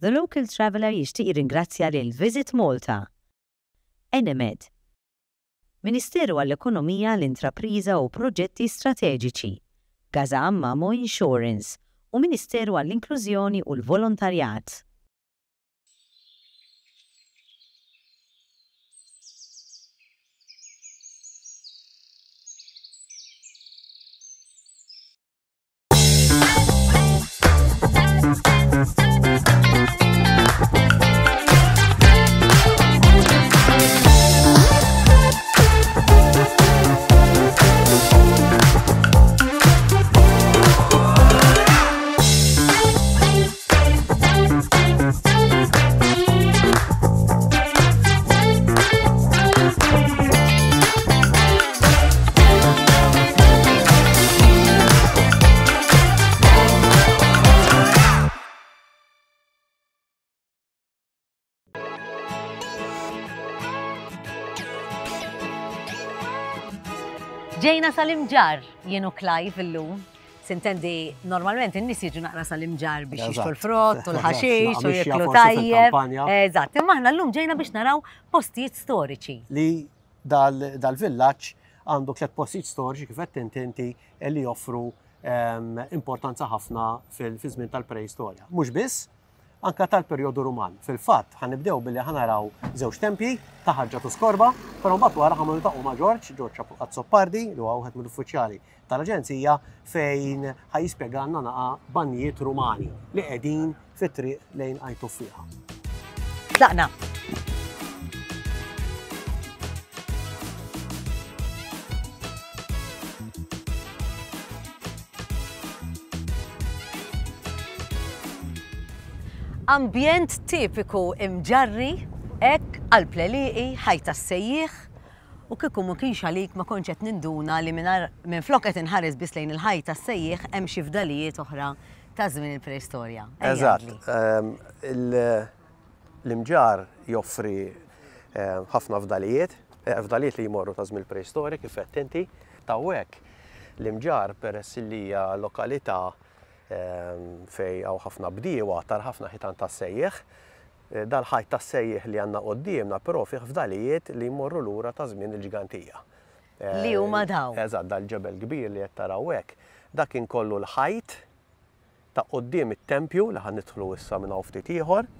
The Local Traveller jixtieq jirringrazzja lil Visit Malta, Enemed, Ministeru għall-Ekonomija, l-Intrapriża u Proġetti Strateġiċi, Gaza Mamo Insurance u Ministeru għall-Inklużjoni u l-Volontarjat. Ġejna sal-imġar jien u Clive illum. Sintendi, normalment in-nies jiġu naqra sal-imġar biex jixtru l-frott u l-ħaxix u jiklu tajjeb. Eżatt, imma aħna llum ġejna biex naraw postijiet storiċi. Li dal-villaġġ għandu tlet postijiet storiċi kif qed inti inti li joffru ehm, importanza ħafna fil-żmien tal-preistorja. Mhux biss, anka tal-perjodu Ruman. Fil-fatt, ħa nibdew billi ħa naraw żewġ tempji ta' Ħaġġa u Skorba, però mbagħad wara ħa niltaqgħu ma' Ġorġ, Ġorġ Azzopardi, li huwa wieħed mill-uffiċjali tal-Aġenzija fejn ħa jispjegalna naqa' banjijiet Rumani li qegħdin fit-triq lejn Għajn Tuffieħa. Tlaqna! Ambjent tipiku imġarri, hekk qalb l-għelieqi, ħajt tas-sejjieħ, u kieku ma kienx għalik ma kontx qed ninduna li minflok qed inħares biss lejn il-ħajt tas-sejjieħ hemm xi fdalijiet oħra ta' żmien il-preistorja. Eżatt. Ehm, l-imġar joffri ehm, ħafna fdalijiet, eh, fdalijiet li jmorru ta' żmien il-preistorja kif qed inti. Tawwek l-imġar peress li hija lokalità ehm, fej hawn ħafna bdiewa tar ħafna ħitan tas-sejjeħ. Eh, dal-ħajt tas-sejjeħ li għandna quddiemna però fih fdalijiet li jmorru lura ta' żmien il-ġgantija. Li huma dawn. Eżatt, dal-ġebel kbir li qed taraw hekk, dak kien kollu l-ħajt ta' quddiem it-tempju li ħa nidħlu issa minn hawn ftit ieħor,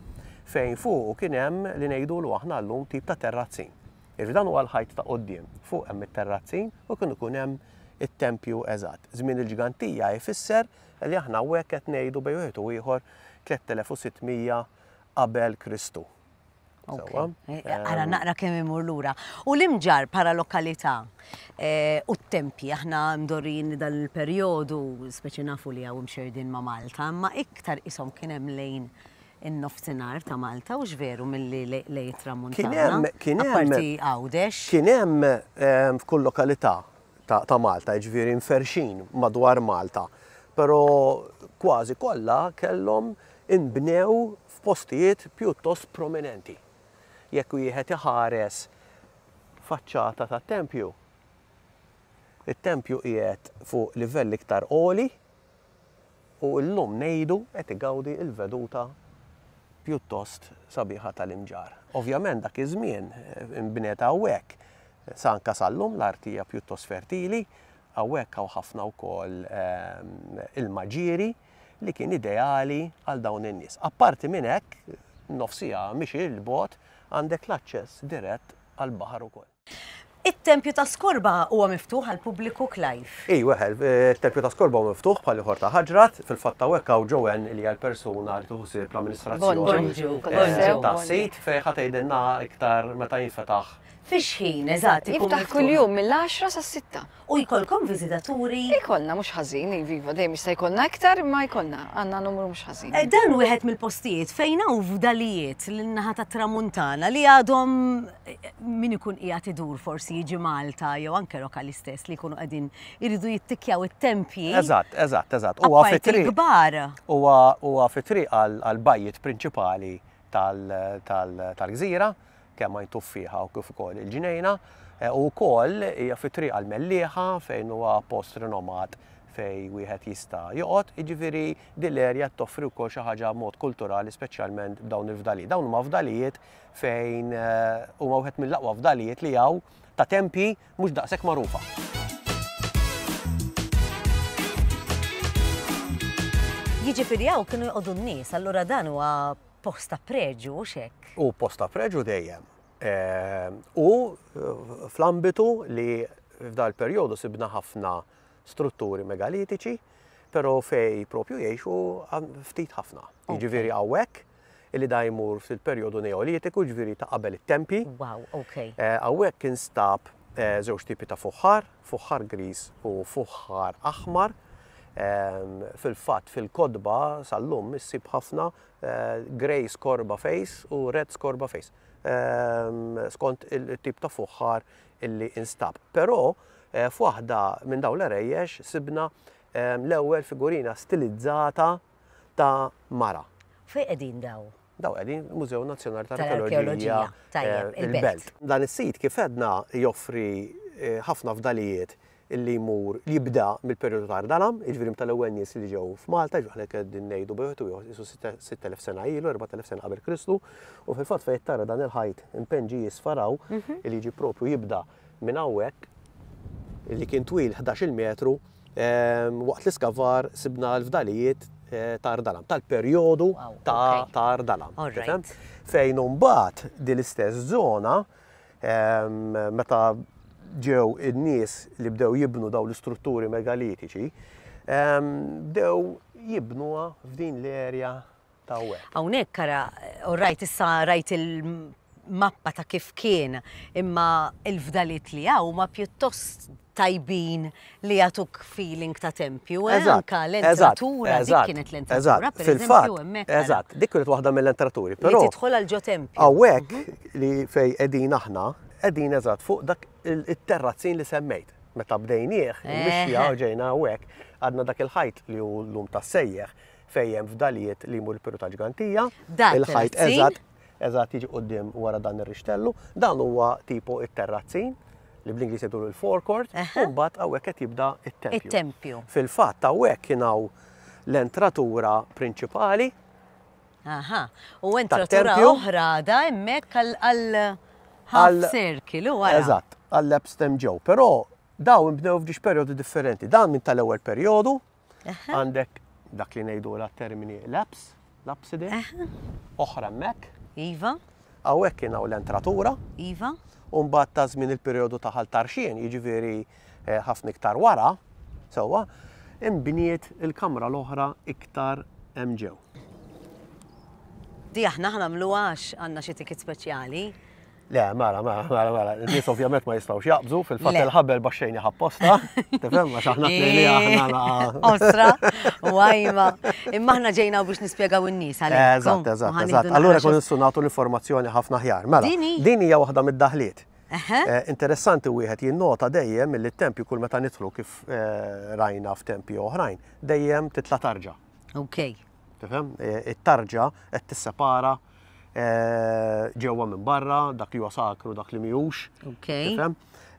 fejn fuqu kien hemm li ngħidulu aħna llum tip ta' terrazzin. Jiġifieri dan huwa l-ħajt ta' quddiem, fuq hemm it-terrazzin u kien ikun hemm it-tempju eżatt. Żmien il-ġgantija jfisser li aħna hawnhekk qed ngħidu bejn wieħed u ieħor 3600 qabel Kristu. Sewwa. Eh, ara naqra kemm imur lura. U l-imġar bħala lokalità eh, u t-tempji aħna mdorrijin li dan il-perjodu, speċi nafu li hawn imxerdin ma' Malta, imma iktar ishom kien hemm lejn in-nofsinhar ta' Malta u veru milli lejn it-tramuntana. Kien hemm kien hemm Apparti Għawdex. Kien hemm eh, f'kull lokalità ta' Malta, jiġifieri mferrxin madwar Malta, però kważi kollha kellhom inbnew f'postijiet pjuttost prominenti. Jekk wieħed iħares faċċata tat-tempju, it-tempju qiegħed fuq livell iktar għoli u llum ngħidu qed igawdi l-veduta pjuttost sabiħa tal-Imġarr. Ovvjament dak iż-żmien inbniet hawnhekk, sa anke sal-lum l-art hija pjuttost fertili, hawnhekk hawn ħafna wkoll ilma ġieri li kien ideali għal dawn in-nies. Apparti minn hekk, nofs siegħa mixi 'l bogħod għandek l-aċċess dirett għall-baħar ukoll. It-Tempju ta' Skorba huwa miftuħ għall-pubbliku, Clive? Iva, it-Tempju ta' Skorba huwa miftuħ bħal ieħor ta' Ħaġrat. Fil-fatt hawnhekk hawn Joanne li hija l-persuna li tieħu ħsieb l-amministrazzjoni tas-sit fejn ħa tgħidilna iktar meta jinfetaħ. Fi x'ħin eżatt ikun miftuħ? Jiftaħ kuljum mill-għaxra sas-sitta. U jkollkom viżitaturi? Ikollna mhux ħażin, iva, iva, dejjem jista' jkollna iktar imma jkollna, għandna numru mhux ħażin. Eh, dan wieħed mill-postijiet fejn hawn fdalijiet lin-naħa tat-Tramuntana li għadhom eh, min ikun qiegħed idur forsi jiġi Malta jew anke lokali stess li jkunu qegħdin iridu jittikkjaw it-tempji. Eżatt, eżatt, eżatt. Huwa fi triq kbar. Huwa fi triq għall-bajjiet prinċipali tal-gżira, kemm Għajn Tuffieħa u kif ukoll il-Ġnejna, u wkoll hija fi triq għall-Mellieħa fejn huwa post rinomat fejn wieħed jista' joqgħod, jiġifieri din l-erja toffri wkoll xi ħaġa mod kulturali speċjalment b'dawn il-fdalijiet. Dawn huma fdalijiet fejn huma wieħed mill-aqwa fdalijiet li hawn ta' tempji mhux daqshekk magħrufa. Jiġifieri hawn kienu joqogħdu n-nies, allura dan huwa post ta' preġju hux hekk? Hu post ta' preġju dejjem. U fl-ambitu li f'dal perjodu sibna ħafna strutturi megalitiċi, però fej propju jgħixu ftit ħafna. Jiġifieri hawnhekk illi da jmur fil-perjodu Neolitiku, ġifieri ta' qabel it-tempji. Wow, okay. Eh, hawnhekk instab eh, żewġ tipi ta' fuħħar, fuħħar griż u fuħħar aħmar. Ehm, fil-fatt fil-kodba sal-lum issib ħafna eh, grey skorba face u red skorba face. Ehm, skont il-tip ta' fuħħar illi instab. Però f'waħda minn dawn l-għerejjex sibna ehm, l-ewwel figurina stilizzata ta' mara. Fejn qegħdin daw? Daw qegħdin Mużew Nazzjonali tal-Arkeoloġija eh, il-Belt. Dan is-sit kif għedna joffri eh, ħafna fdalijiet illi jmur li jibda mill-perjodu ta' Ardalam, jiġifieri tal-ewwel nies li ġew f'Malta, jiġifieri aħna qegħdin ngħidu bejn wieħed u ieħor qisu 6000 sena ilu, 4000 sena qabel Kristu, u fil-fatt fejn tara dan il-ħajt impenġi jisfar hawn, mhm. illi jiġi propju jibda minn hawnhekk li kien twil 11-il metru, waqt l-iskavar sibna l-fdalijiet ta' Ardalam, tal-perjodu ta' Ardalam. Fejn imbagħad din l-istess żona meta ġew in-nies li bdew jibnu dawn l-istrutturi megalitiċi, bdew jibnuha f'din l-erja ta' hawnhekk. Hawnhekk ara, u rajt issa rajt il-mappa ta' kif kien, imma l-fdaliet li hawn huma pjuttost tajbin li jagħtuk feeling ta' tempju, eh? Anka l-entratura, dik kienet l-entratura, per eżempju, hemmhekk. Eżatt, dik kienet waħda mill-entraturi, però. Li tidħol għal ġo tempju. Hawnhekk mhm. li fej qegħdin aħna, qegħdin eżatt fuq dak it-terrazzin li semmejt. Meta bdejnieh, il-mixja ġejna hawnhekk, għadna dak il-ħajt li hu llum tas-sejjeħ fejn hemm fdalijiet li jmur il-Peru ta' Ġgantija. Il-ħajt eżatt, eżatt jiġi quddiem wara dan ir-rixtellu. Dan huwa tipo it-terrazzin li bl-Ingliż jgħidu l-forecourt, u mbagħad hawnhekk qed jibda it-tempju. It-tempju. Fil-fatt hawnhekk kien hawn l-entratura prinċipali. Aha, u entratura oħra da hemmhekk għal half circle u wara. Eżatt, għall-apse hemm ġew. Però dawn inbnew f'ġiex perjodi differenti. Dan minn tal-ewwel perjodu, Għandek dak li ngħidu la termini laps, lapside, oħra hemmhekk. Iva. Hawnhekk kien hawn l-entratura. Iva. U mbagħad ta' żmien il-perjodu ta' Ħal Tarxien, jiġifieri eh, ħafna iktar wara, sewwa, imbniet il-kamra l-oħra iktar hemm ġew. Di aħna ħnamluha għax għandna xi ticket speċjali. Le, mela, mela, mela, mela, n-nies ovvjament ma jistgħux jaqbżu, fil-fatt il-ħabel baxxejni ħapposta, tifhem, għax aħna tnejn li aħna Osra, u għajma. Imma aħna ġejna biex nispjegaw in-nies għalhekk. Eżatt, eżatt, eżatt. Allura kun nistgħu nagħtu l-informazzjoni ħafna aħjar. Mela, din hija waħda mid-daħliet. Eh, interessanti wieħed jinnota dejjem li t-tempju kull meta nidħlu kif eh, rajna f'tempji oħrajn, dejjem titla' tarġa. Ok. Tifhem? E, it-tarġa qed tissepara e, ġewwa minn barra, dak li huwa sakru, dak li mhijiex. Ok. Tifhem?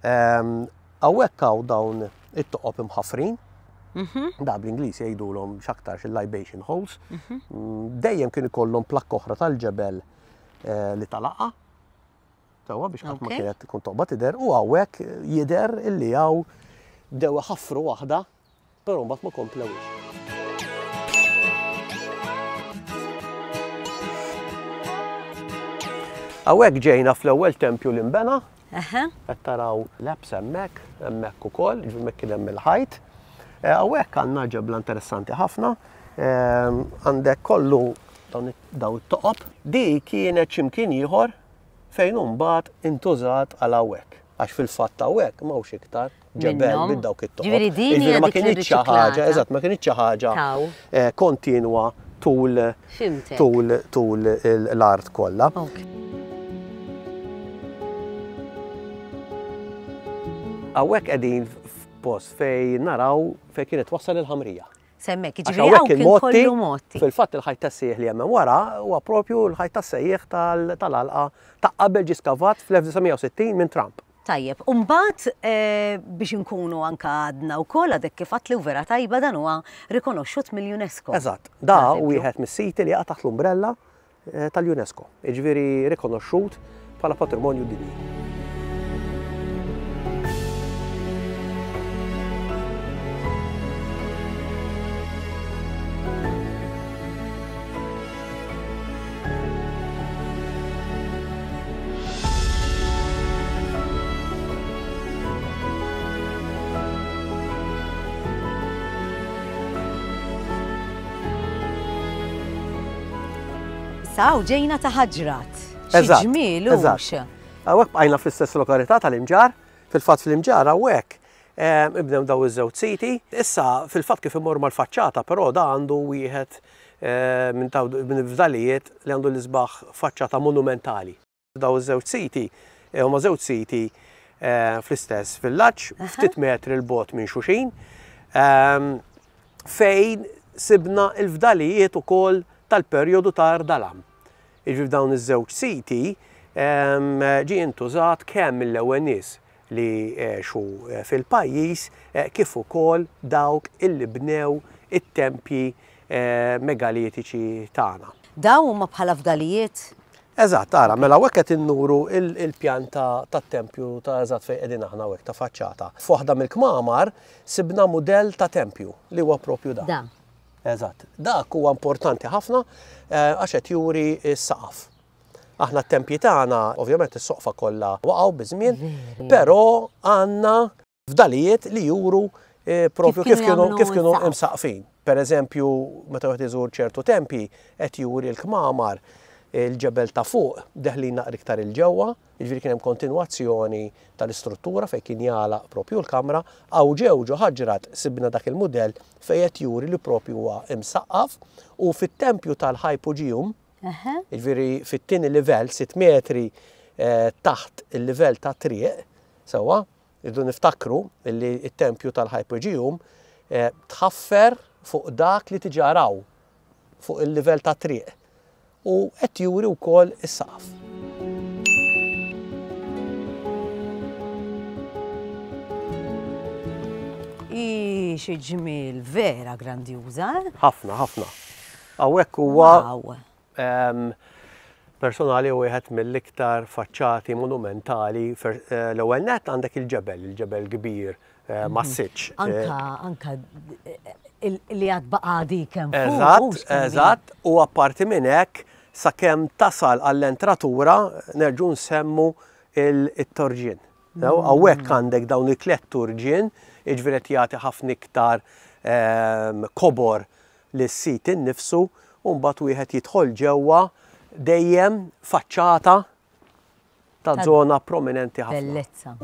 Ehm, hawnhekk hawn dawn it-toqob imħaffrin. Mhm. Da bl-Ingliż jgħidulhom x'aktarx il-libation holes. Mhm. Mm, dejjem kien ikollhom plakka oħra tal-ġebel e, li talaqa. Sewwa biex ħadd ma kienet tkun toqba tidher u hawnhekk jidher illi hawn bdew iħaffru waħda Però mbagħad ma komplewhiex. Hawnhekk ġejna fl-ewwel tempju li nbena. Qed taraw l-apse hemmhekk, hemmhekk ukoll, ġifieri hemmhekk kien hemm il-ħajt. Eh, hawnhekk għandna ġebla interessanti ħafna. Ehm, għandek kollu dawn it-toqob. Di kienet x'imkien ieħor fejn hu mbagħad intużat għal hawnhekk. Għax fil-fatt hawnhekk m'hawnx iktar ġebel minn dawk it-toqob. Ġifieri din hija ma kinitx xi ħaġa, eżatt, ma kinitx xi ħaġa eh, kontinwa tul tul tul l-art kollha. Hawnhekk qegħdin f'post fejn naraw fejn kienet wassal il-ħamrija. Semmek, jiġifieri hawn kien kollu motti. Fil-fatt il-ħajt tas-sejjeħ li hemm wara huwa propju l-ħajt tas-sejjeħ tal-għalqa ta' qabel ġie skavat fl-1960 minn Trump. Tajjeb, u mbagħad biex inkunu anke għadna wkoll għadek kif għedt li u vera tajba dan huwa rikonoxxut mill-UNESCO. Eżatt, da wieħed mis-siti li jaqa' taħt l-umbrella tal-UNESCO, jiġifieri rikonoxxut bħala patrimonju dinji. Issa hawn ġejna ta' Ħaġrat. Xi ġmiel hux. Hawnhekk bqajna fl-istess lokalità tal-Imġarr. Fil-fatt fl-Imġarr hawnhekk ibnew daw iż-żewġ siti. Issa fil-fatt kif immorru mal-faċċata però da għandu wieħed minn minn il-fdalijiet li għandu l-isbaħ faċċata monumentali. Daw iż-żewġ siti huma żewġ siti fl-istess villaġġ, ftit metri 'l bogħod minn xulxin, fejn sibna l-fdalijiet ukoll tal-perjodu ta' Ardalam. Jiġifieri f'dawn iż-żewġ siti ġie intużat kemm mill-ewwel nies li għexu fil-pajjiż kif ukoll dawk illi bnew it-tempji megalitiċi tagħna. Dawn huma bħala fdalijiet? Eżatt, ara, mela hawnhekk qed innuru il-pjan tat-tempju ta' eżatt fejn qegħdin aħna hawnhekk ta' faċċata. F'waħda mill-kmamar sibna mudell ta' tempju li huwa propju dan. Dan. Eżatt. Dak huwa importanti ħafna għax qed juri s-saqaf. Aħna t-tempji tagħna, ovvjament is-soqfa kollha waqgħu biż-żmien, però għandna fdalijiet li juru eh, propju kif kienu kif kienu imsaqfin. Per eżempju, meta wieħed iżur ċertu tempji qed juri l-kmamar il-ġebel ta' fuq deħlin naqra iktar il-ġewwa, jiġifieri kien hemm kontinwazzjoni tal-istruttura fejn kien jagħlaq propju l-kamra, hawn ġew ġo ħaġrat sibna dak il-mudell fejn qed juri li propju huwa imsaqqaf u fit-tempju tal-Hypogeum Jiġifieri fit-tieni livell, sitt metri taħt il-livell tat-triq, sewwa, irridu niftakru li t-tempju tal-Hypogeum tħaffer fuq dak li diġà raw fuq il-livell tat-triq u qed juri wkoll is-saqaf. Ii, xi ġmiel, vera grandjuża, eh? Ħafna, ħafna. Hawnhekk huwa personali wieħed mill-iktar faċċati monumentali. Eh, l-ewwel nett għandek il-ġebel, il-ġebel kbir eh, mhm. massiċ. Anka, anka eh, li għad baqa dik hemm Eżatt, eżatt, u apparti minn hekk sakemm tasal għall-entratura nerġu nsemmu il-torġien. Hawnhekk mm. għandek dawn il-tliet turġien, jiġifieri qed jagħti ħafna iktar ehm, kobor lis-sit innifsu u mbagħad wieħed jidħol ġewwa dejjem faċċata ta' żona prominenti ħafna. Bellezza.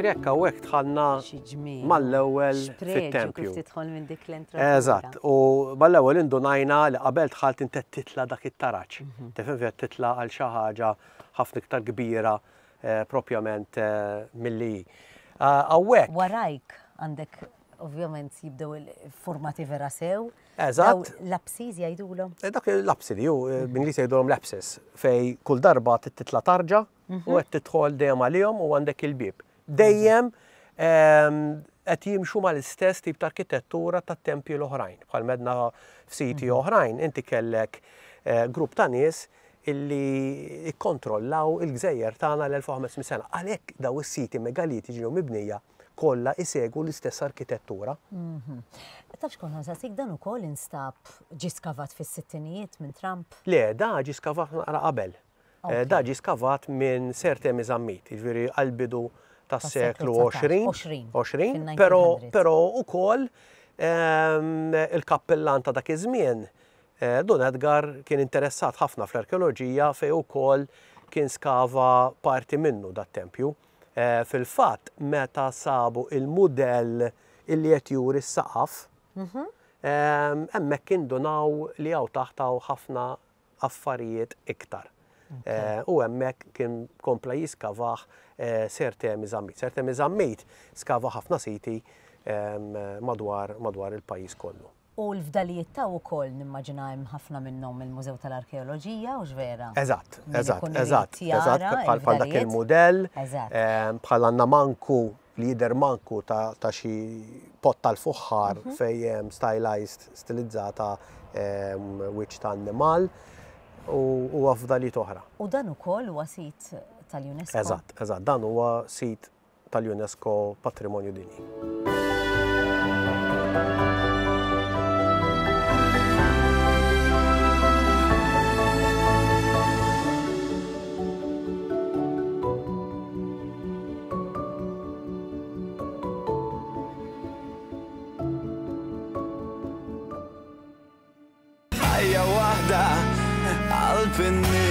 Ġifieri hekk hawnhekk dħalna mal-ewwel fit-tempju. Kif tidħol minn dik l-entratura. Eżatt, u mal-ewwel indunajna li qabel dħalt inti titla' dak it-taraġ. Mhm. Tifhem qed titla' għal xi ħaġa ħafna iktar kbira propjament milli hi. Hawnhekk. Warajk għandek ovvjament jibdew il-formati vera sew. Eżatt. L-apsis jgħidulhom? Dak l-apsidi, ju, b'Ingliż jgħidulhom l-apsis, fej kull darba titla' tarġa u qed tidħol dejjem għalihom u għandek il-bieb. Dejjem qed jimxu mal-istess tip ta' arkitettura tat-tempji l-oħrajn. Bħal medna f'siti oħrajn, inti kellek grupp ta' nies illi kkontrollaw il-gżejjer tagħna l-1500 sena. Għalhekk daw is-siti megalitiċi ġew mibnija kollha isegwu l-istess arkitettura. Mhm. Taf x'kont nsaqsik dan ukoll instab ġie skavat fis-sittinijiet minn Trump? Le, da ġie skavat naqra qabel. Eh, da ġie skavat minn Sir Temi Zammit, jiġifieri għall-bidu tas-seklu 20, 20, però però ukoll ehm, il-kappellan ta' dak iż-żmien Dun Edgar kien interessat ħafna fl-arkeoloġija fejn ukoll kien skava parti minnu dat-tempju. Fil-fatt, meta sabu il-mudell illi qed juri s-saqaf, hemmhekk indunaw li hawn taħt hawn ħafna affarijiet iktar. U hemmhekk kien kompla jiskavah Sir Temi Zammit. Sir Temi Zammit skava ħafna siti madwar madwar il-pajjiż kollu. U l-fdalijiet taw ukoll nimmaġina hemm ħafna minnhom il-Mużew tal-Arkeoloġija, hux vera? Eżatt, eżatt, eżatt, eżatt, bħal dak il-mudell, bħal għandna manku li jidher manku ta' xi pot tal-fuħħar fejn hemm stylized, stilizzata wiċċ ta' annimal u fdalijiet oħra. U dan ukoll huwa sit tal-UNESCO? Eżatt, eżatt, dan huwa sit tal-UNESCO Patrimonju Dinji. Ħajja waħda qalb in-nies.